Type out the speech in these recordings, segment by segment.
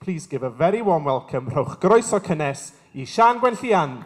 Please give a very warm welcome, rhowch groeso cynnes i Siân Gwenllian.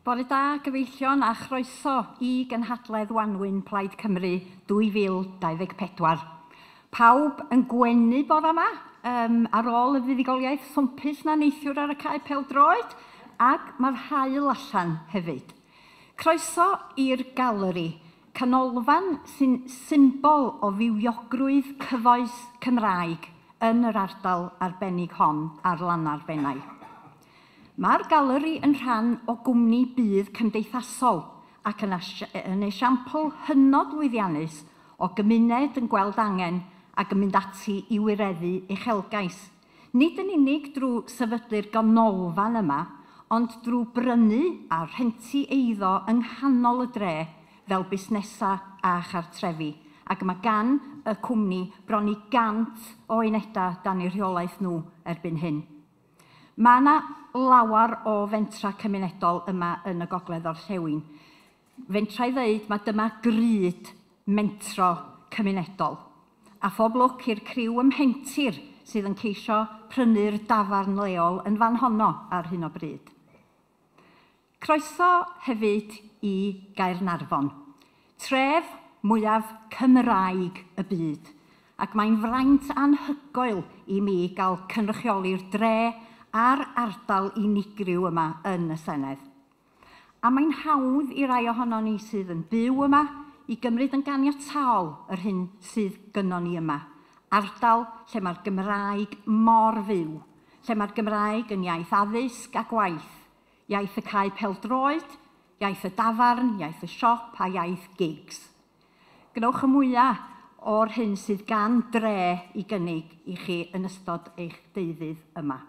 Bore da, gyfeillion, a chroeso i gynhadledd Wanwyn Plaid Cymru 2024. Pawb yn gwenu bore yma ar ôl y fuddugoliaeth swmpus na neithiwr ar y cae pêl-droed, ac mae'r haul allan hefyd. Croeso i'r galeri, canolfan sy'n symbol o fywiogrwydd cyfoes Cymraeg yn yr ardal arbennig hon ar lannau'r Fenai. Mae'r galeri yn rhan o gwmni budd cymdeithasol ac yn esiampl hynod lwyddiannus o gymuned yn gweld angen ac yn mynd ati i wireddu uchelgais. Nid yn unig drwy sefydlu'r ganolfan yma, ond drwy brynu a rhentu eiddo yng nghanol y dre fel busnesau a chartrefi. Ac mae gan y cwmni bron i 100 o unedau dan eu rheolaeth nhw erbyn hyn. Mae yna lawer o fentra cymunedol yma yn y Gogledd Orllewin. Fentra i ddeud, mae dyma gryd mentro cymunedol. A phob lwc i'r criw ym Mhentir sydd yn ceisio prynu'r dafarn leol yn fan honno ar hyn o bryd. Croeso hefyd i Gaernarfon, tref mwyaf Cymraeg y byd, ac mae'n fraint anhygoel i mi gael cynrychioli'r dre a'r ardal unigryw yma yn y Senedd. A mae'n hawdd i rai ohonon ni sydd yn byw yma i gymryd yn ganiataol yr hyn sydd gynnon ni yma. Ardal lle mae'r Gymraeg mor fyw, lle mae'r Gymraeg yn iaith addysg a gwaith, iaith y cae pêl-droed, iaith y dafarn, iaith y siop a iaith gigs. Gwnewch y mwyaf o'r hyn sydd gan dre i gynnig i chi yn ystod eich deuddydd yma.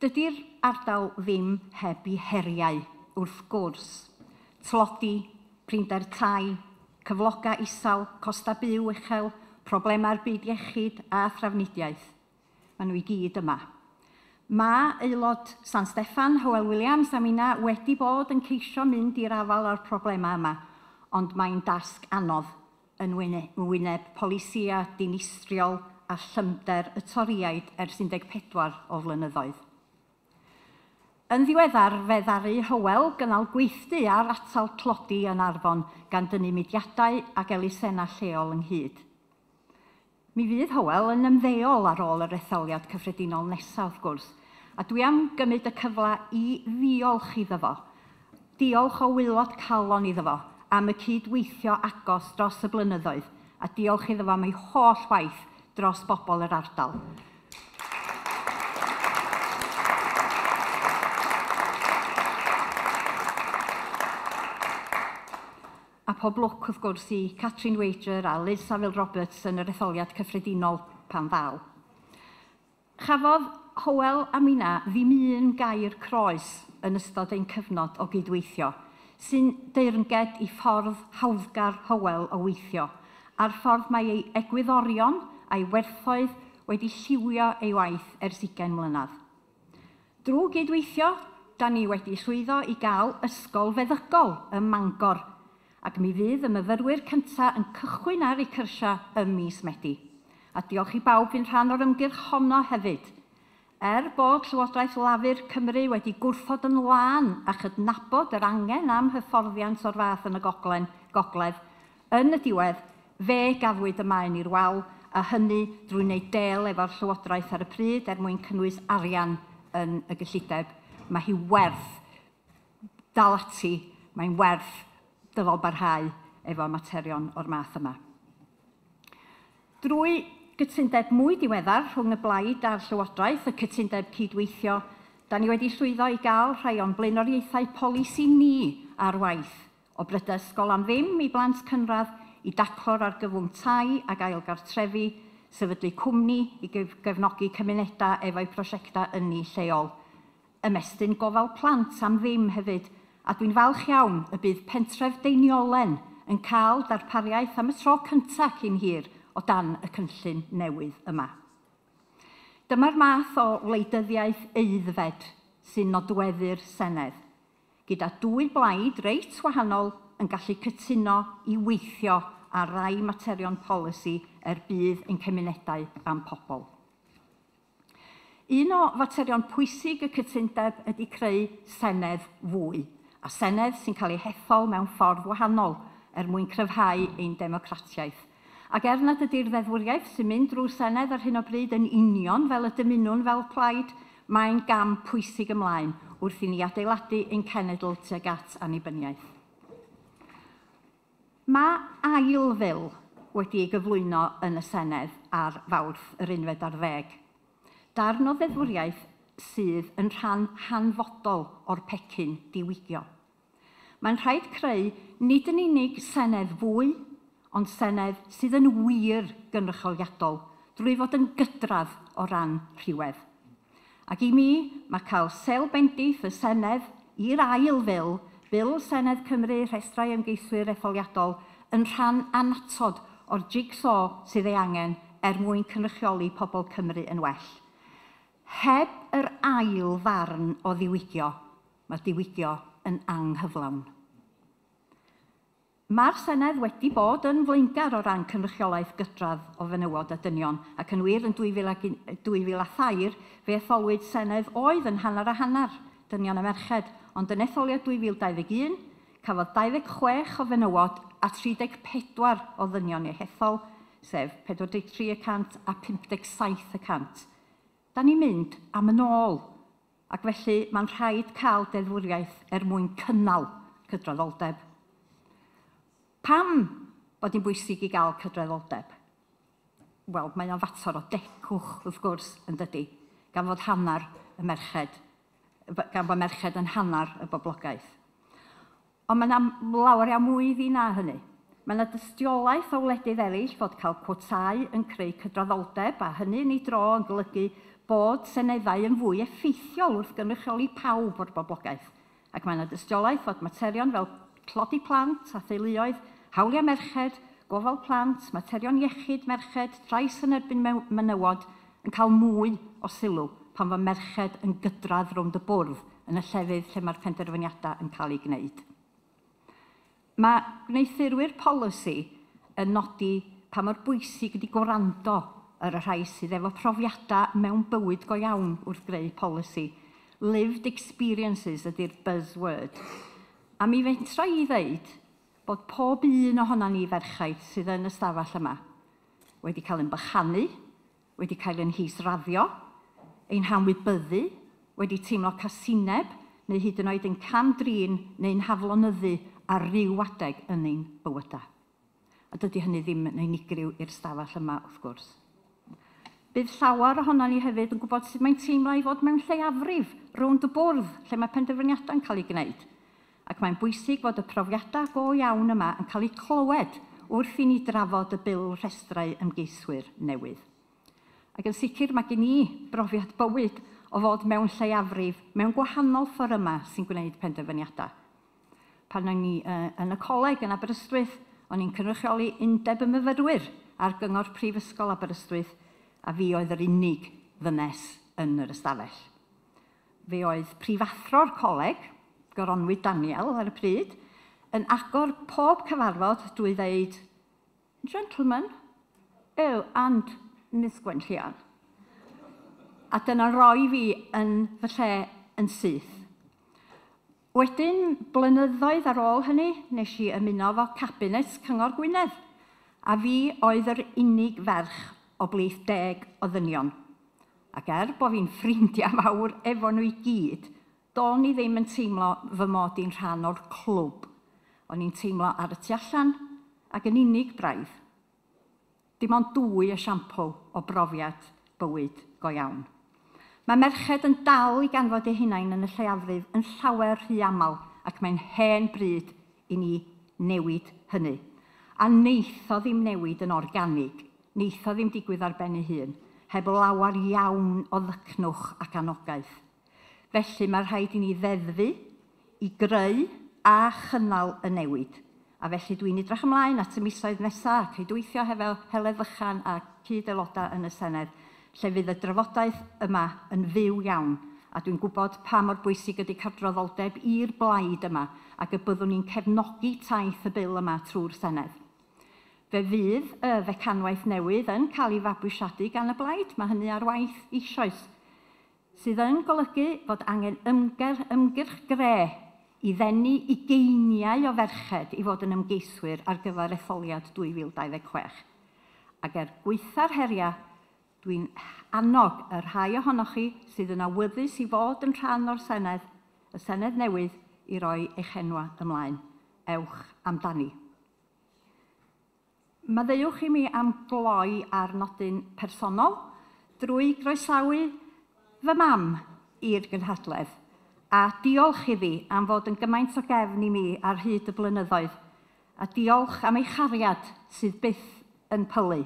Dydy'r ardal ddim heb ei heriau, wrth gwrs. Tlodi, prinder tai, cyflogau isel, costau byw uchel, problemau'r byd iechyd a thrafnidiaeth. Maen nhw i gyd yma. Mae aelod San Steffan, Hywel Williams a minna wedi bod yn ceisio mynd i'r afael â'r problemau yma, ond mae'n dasg anodd yn wyneb polisïau dinistriol a llymder y Torïaid ers 14 o flynyddoedd. Yn ddiweddar, fe ddaru Hywel gynnal gweithdy ar atal tlodi yn Arfon gan dynnu mudiadau ac elusennau lleol ynghyd. Mi fydd Hywel yn ymddeol ar ôl yr etholiad cyffredinol nesaf, wrth gwrs, a dwi am gymryd y cyfle i ddiolch iddo fo. Diolch o waelod calon iddo fo am y cydweithio agos dros y blynyddoedd, a diolch iddo fo am ei holl waith dros bobl yr ardal. A pob lwc, wrth gwrs, i Catrin Wager a Liz Saville Roberts yn yr etholiad cyffredinol pan ddaw. Chafodd Hywel a minna ddim un gair croes yn ystod ein cyfnod o gydweithio, sy'n deyrnged i ffordd hawddgar Hywel o weithio, a'r ffordd mae ei egwyddorion a'i werthoedd wedi lliwio ei waith ers 20 mlynedd. Drwy gydweithio, da ni wedi llwyddo i gael ysgol feddygol ym Mangor, ac mi fydd y myfyrwyr cyntaf yn cychwyn ar eu cyrsiau ym mis Medi. A diolch i bawb fu'n rhan o'r ymgyrch honno hefyd. Er bod Llywodraeth Lafur Cymru wedi gwrthod yn lân a chydnabod yr angen am hyfforddiant o'r fath yn y gogledd, yn y diwedd, fe gafwyd y maen i'r wal, a hynny drwy wneud del efo'r Llywodraeth ar y pryd er mwyn cynnwys arian yn y gyllideb. Mae hi werth dal ati, mae'n werth dyfal barhau efo materion o'r math yma. Drwy gytundeb mwy diweddar rhwng y blaid a'r Llywodraeth, y cytundeb cydweithio, da ni wedi llwyddo i gael rhai o'n blaenoriaethau polisi ni ar waith, o brydau ysgol am ddim i blant cynradd, i daclo'r argyfwng tai ac ailgartrefi, sefydlu cwmni i gefnogi cymunedau efo'u prosiectau ynni lleol. Ymestyn gofal plant am ddim hefyd, a dwi'n falch iawn y bydd pentref Deiniolen yn cael darpariaeth am y tro cyntaf cyn hir o dan y cynllun newydd yma. Dyma'r math o wleidyddiaeth aeddfed sy'n nodweddu'r Senedd. gyda dwy blaid reit wahanol yn gallu cytuno i weithio ar rai materion polisi er budd ein cymunedau a'n pobl. Un o faterion pwysig y cytundeb ydy creu senedd fwy, a senedd sy'n cael ei hethol mewn ffordd wahanol er mwyn cryfhau ein democratiaeth. Ac er nad ydy'r ddeddfwriaeth sy'n mynd drwy'r Senedd ar hyn o bryd yn union fel y dymunwn fel plaid, mae'n gam pwysig ymlaen wrth i ni adeiladu ein cenedl tuag at annibyniaeth. Mae ail fil wedi ei gyflwyno yn y Senedd ar Fawrth yr 11. Darn o ddeddfwriaeth sydd yn rhan hanfodol o'r pecyn diwygio. Mae'n rhaid creu nid yn unig Senedd fwy, ond Senedd sydd yn wir gynrychioliadol drwy fod yn gydradd o ran rhywedd. Ac i mi, mae cael sêl bendith y Senedd i'r ail fil, Bil Senedd Cymru Rhestrau Ymgeiswyr Etholiadol, yn rhan annatod o'r jig-saw sydd ei angen er mwyn cynrychioli pobl Cymru yn well. Heb yr ail ddarn o ddiwygio, mae diwygio yn anghyflawn. Mae'r Senedd wedi bod yn flaengar o ran cynrychiolaeth gydradd o fenywod a dynion, ac yn wir yn 2003 fe etholwyd Senedd oedd yn hanner a hanner, dynion a merched, ond yn etholiad 2021 cafodd 26 o fenywod a 34 o ddynion eu hethol, sef 43% a 57%. Da ni'n mynd am yn ôl, ac felly mae'n rhaid cael deddfwriaeth er mwyn cynnal cydraddoldeb. Pam bod hi'n bwysig i gael cydraddoldeb? Wel, mae o'n fater o decwch, wrth gwrs, yn dydy, gan fod hanner y merched, gan fod merched yn hanner y boblogaeth. Ond mae yna lawer iawn mwy iddi na hynny. Mae yna dystiolaeth o wledydd eraill fod cael cwotâu yn creu cydraddoldeb, a hynny yn ei dro yn golygu bod seneddau yn fwy effeithiol wrth gynrychioli pawb o'r boblogaeth. Ac mae yna dystiolaeth fod materion fel tlodi plant a theuluoedd, hawliau merched, gofal plant, materion iechyd merched, trais yn erbyn menywod yn cael mwy o sylw pan fo merched yn gydradd rownd y bwrdd yn y llefydd lle mae'r penderfyniadau yn cael eu gwneud. Mae gwneuthurwyr polisi yn nodi pa mor bwysig ydy gwrando ar y rhai sydd efo profiadau mewn bywyd go iawn wrth greu polisi. Lived experiences ydy'r buzzword. A mi fentra i ddeud bod pob un ohonan ni ferchaid sydd yn y stafell yma wedi cael ein bychanu, wedi cael ein hisraddio, ein hanwybyddu, wedi teimlo casineb, neu hyd yn oed yn cam-drin neu'n haflonyddu ar ryw adeg yn ein bywydau. A dydy hynny ddim yn unigryw i'r stafell yma, wrth gwrs. Bydd llawer ohonon ni hefyd yn gwybod sut mae'n teimlo i fod mewn lleiafrif rownd y bwrdd lle mae penderfyniadau'n cael eu gwneud. Ac mae'n bwysig fod y profiadau go iawn yma yn cael eu clywed wrth i ni drafod y bil rhestrau ymgeiswyr newydd. Ac yn sicr mae gen i brofiad bywyd o fod mewn lleiafrif mewn gwahanol fforymau sy'n gwneud penderfyniadau. Pan o'n i yn y coleg yn Aberystwyth, o'n i'n cynrychioli Undeb y Myfyrwyr ar Gyngor Prifysgol Aberystwyth, a fi oedd yr unig ddynes yn yr ystafell. Fe oedd prifathro'r coleg, Goronwy Daniel ar y pryd, yn agor pob cyfarfod drwy ddeud, "Gentlemen, oh, and Miss Gwenllian." A dyna roi fi yn fy lle yn syth. Wedyn, blynyddoedd ar ôl hynny, nes i ymuno efo Cabinet Cyngor Gwynedd, a fi oedd yr unig ferch o blith 10 o ddynion. Ac er bod fi'n ffrindiau mawr efo nhw i gyd, do'n i ddim yn teimlo fy mod i'n rhan o'r clwb. O'n i'n teimlo ar y tu allan ac yn unig braidd. Dim ond dwy esiampl o brofiad bywyd go iawn. Mae merched yn dal i ganfod eu hunain yn y lleiafrif yn llawer rhy aml, ac mae'n hen bryd i ni newid hynny. A neith o ddim newid yn organig, neith o ddim digwydd ar ben ei hun, heb lawer iawn o ddycnwch ac anogaeth. Felly mae rhaid i ni ddeddfu, i greu a chynnal y newid. A felly dwi'n edrych ymlaen at y misoedd nesaf, cydweithio hefo Heledd Fychan a cyd-aelodau yn y Senedd, lle fydd y drafodaeth yma yn fyw iawn. A dwi'n gwybod pa mor bwysig ydy cydraddoldeb i'r blaid yma ac y byddwn ni'n cefnogi taith y bil yma trwy'r Senedd. Fe fydd y fecanwaith newydd yn cael ei fabwysiadu gan y blaid, mae hynny ar waith eisoes, sydd yn golygu fod angen ymgyrch gre i ddenu ugeiniau o ferched i fod yn ymgeiswyr ar gyfer etholiad 2026. Ac er gwaetha'r heriau, dwi'n annog y rhai ohonoch chi sydd yn awyddus i fod yn rhan o'r Senedd, y Senedd newydd, i roi eich enwa ymlaen. Ewch amdani. Maddeuwch i mi am gloi ar nodyn personol drwy groesawu fy mam i'r gynhadledd a diolch iddi am fod yn gymaint o gefn i mi ar hyd y blynyddoedd a diolch am ei chariad sydd byth yn pylu.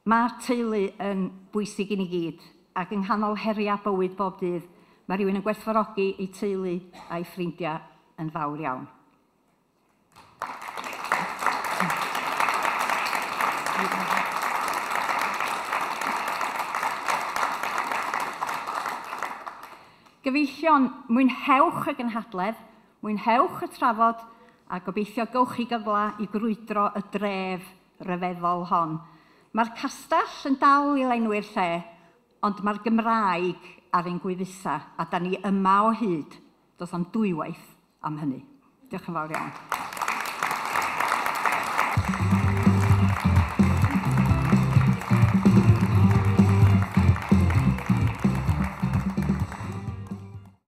Mae teulu yn bwysig i ni gyd ac yng nghanol heriau bywyd bob dydd mae rhywun yn gwerthfawrogi ei teulu a'i ffrindiau yn fawr iawn. Gyfeillion, mwynhewch y gynhadledd, mwynhewch y trafod a gobeithio gowch chi gyfle i grwydro y dref ryfeddol hon. Mae'r castell yn dal i lenwi'r lle, ond mae'r Gymraeg ar ein gwefusau a da ni yma o hyd. Does am dwywaith am hynny. Diolch yn fawr iawn.